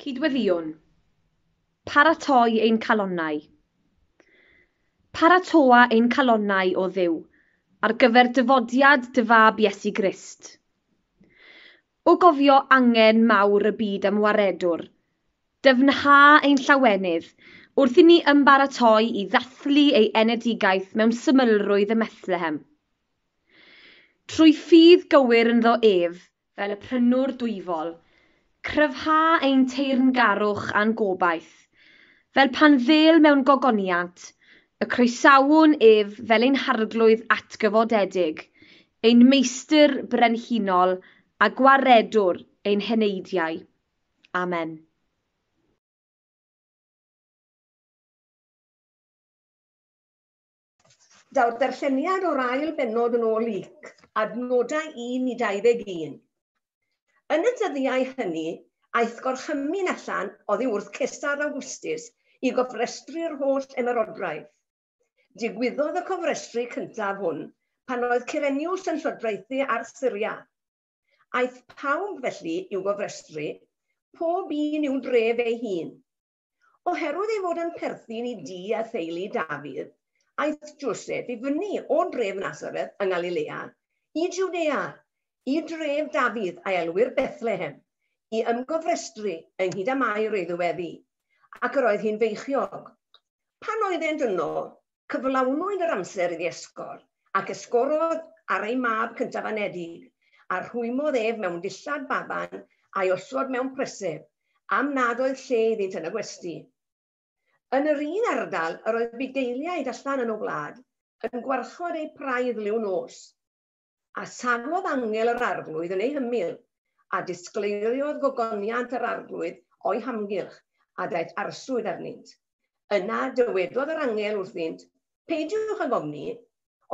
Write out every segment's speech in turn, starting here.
Cydweddïwn. Paratoi ein calonnau. Paratoa ein calonnau, o Dduw, ar gyfer dyfodiad dy fab Iesu Grist. O gofio angen mawr y byd am waredwr, dyfnha ein llawenydd wrth i ni ymbaratoi i ddathlu ei enedigaeth mewn symlrwydd ym Methlehem. Trwy ffydd gywir ynddo ef, fel y prynwr dwyfol, cryfha ein teyrngarwch a'n gobaith, fel pan ddêl mewn gogoniant, y croesawwn ef fel ein harglwydd atgyfodedig, ein meistr brenhinol a gwaredwr ein heneidiau. Amen. Daw'r darlleniad o'r ail bennod yn ôl Luc, adnodau 1 i 21. Yn y dyddiau hynny, aeth gorchymyn allan oddi wrth Cesar Augustus i gofrestru'r holl ymerodraeth. Digwyddodd y cofrestru cyntaf hwn pan oedd Cyrenius yn llywodraethu ar Syria. Aeth pawb felly i'w gofrestru, pob un i'w dref ei hun. Oherwydd ei fod yn perthyn i dŷ a theulu Dafydd, aeth Joseph i fyny o dref Nazareth yng Ngalilea i Jwdea, i dref Dafydd a elwir Bethlehem, i ymgofrestru ynghyd â Mair ei ddyweddi, ac yr oedd hi'n feichiog. Pan oeddent yno, cyflawnwyd yr amser iddi esgor, ac esgorodd ar ei mab cyntaf anedig, a rhwymodd ef mewn dillad baban a'i osod mewn preseb, am nad oedd lle iddynt yn y gwesty. Yn yr un ardal yr oedd bugeiliaid allan yn y wlad, yn gwarchod eu praidd liw nos. A safodd angel yr arglwydd yn ei hymyl, a disgleiriodd gogoniant yr arglwydd o'i hamgylch, a daeth arswyd arnynt. Yna dywedodd yr angel wrthynt, peidiwch ag ofni,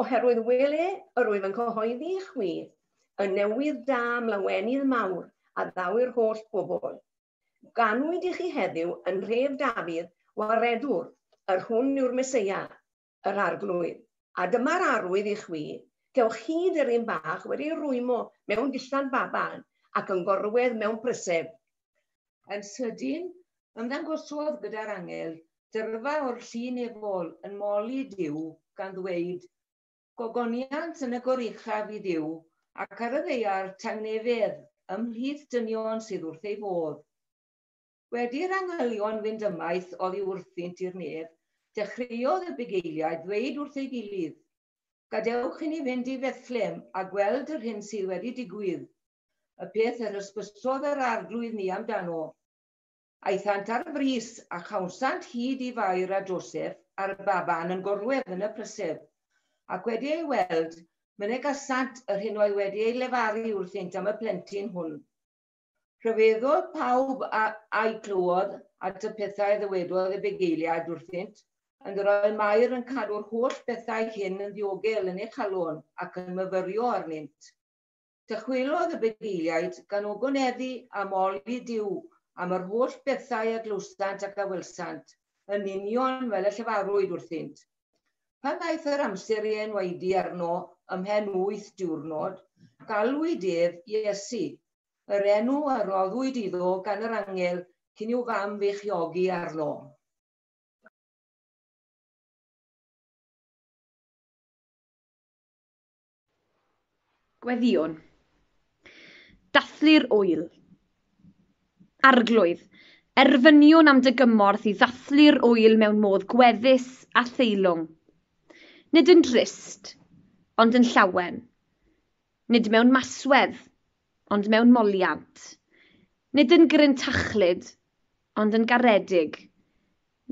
oherwydd wele yr wyf yn cyhoeddi i chwi y newydd da am lawenydd mawr a ddaw i'r holl bobl. Ganwyd i chi heddiw yn nhref Dafydd waredwr, yr hwn yw'r Meseia, yr arglwydd. A dyma'r arwydd i chwi, cewch hyd yr un bach wedi ei rwymo mewn dillad baban ac yn gorwedd mewn preseb. Yn sydyn, ymddangosodd gyda'r angel dyrfa o'r llu nefol yn moli Duw gan ddweud, gogoniant yn y goruchaf i Dduw, ac ar y ddaear tangnefedd ymhlith dynion sydd wrth ei fodd. Wedi'r angylion fynd ymaith oddi wrthynt i'r nef, dechreuodd y bugeiliaid ddweud wrth ei gilydd, gadewch i ni fynd i Fethlem a gweld yr hyn sydd wedi digwydd, y peth yr hysbysodd yr arglwydd ni amdano. Aethant ar frys a chawsant hyd i Fair a Joseph a'r baban yn gorwedd yn y preseb, ac wedi ei weld, mynegasant yr hyn oedd wedi ei lefaru wrthynt am y plentyn hwn. Rhyfeddodd pawb a'i clywodd at y pethau ddywedodd y bugeiliaid wrthynt, ond yr oedd Mair yn cadw'r holl bethau hyn yn ddiogel yn ei chalon ac yn myfyrio arnynt. Dychwelodd y bugeiliaid gan ogoneddu a moli Duw am yr holl bethau a glywsant ac a welsant, yn union fel y llefarwyd wrthynt. Pan ddaeth yr amser i enwaedu arno ymhen 8 diwrnod, galwyd ef Iesu, yr enw a roddwyd iddo gan yr angel cyn i'w fam feichiogi arno. Gweddïwn. Dathlu'r ŵyl. Arglwydd, erfyniwn am dy gymorth i ddathlu'r ŵyl mewn modd gweddus a theilwng. Nid yn drist, ond yn llawen. Nid mewn maswedd, ond mewn moliant. Nid yn gryntachlyd, ond yn garedig.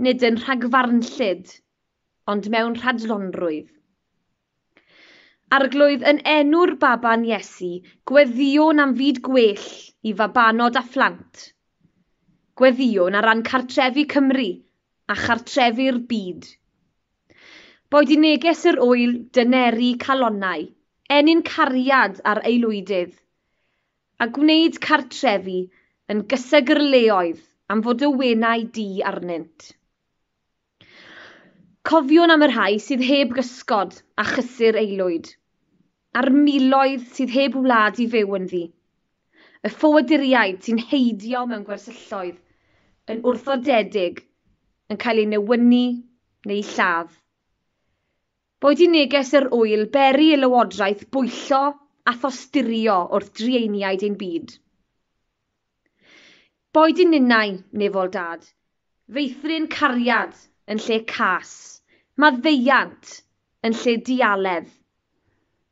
Nid yn rhagfarnllyd, ond mewn rhadlonrwydd. Arglwydd, yn enw'r baban Iesu, gweddïwn am fyd gwell i fabanod a phlant. Gweddïwn ar ran cartrefi Cymru a chartrefi'r byd. Boed i neges yr ŵyl dyneru calonnau, ennyn cariad ar aelwydydd, a gwneud cartrefi yn gysegrleoedd am fod y wenau du arnynt. Cofiwn am y rhai sydd heb gysgod a chysur aelwyd, a'r miloedd sydd heb wlad i fyw ynddi, y ffoaduriaid sy'n heidio mewn gwersylloedd, yn wrthodedig, yn cael eu newynu neu lladd. Boed i neges yr ŵyl beri y lywodraeth bwyllo a thosturio wrth drueiniaid ein byd. Boed i ninnau, nefol dad, feithrin cariad yn lle cas, maddeuant yn lle dialedd,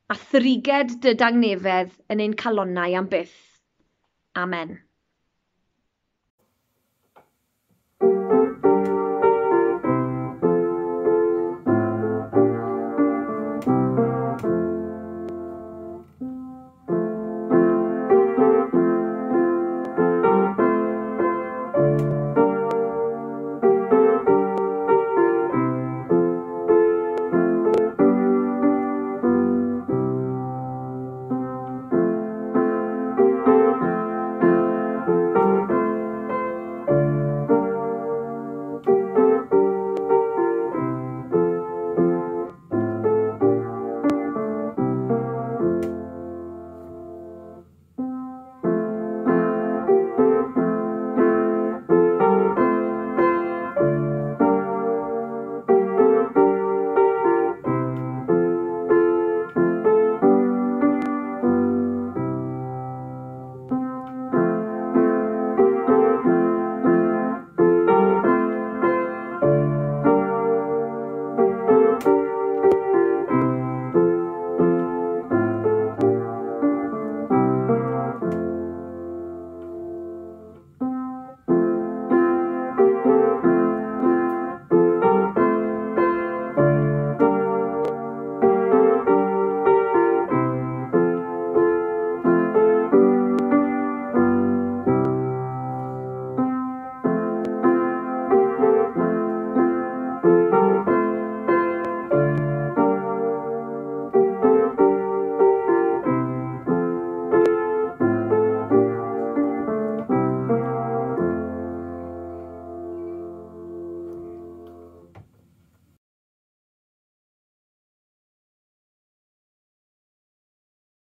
a thriged dy dangnefedd yn ein calonnau am byth. Amen.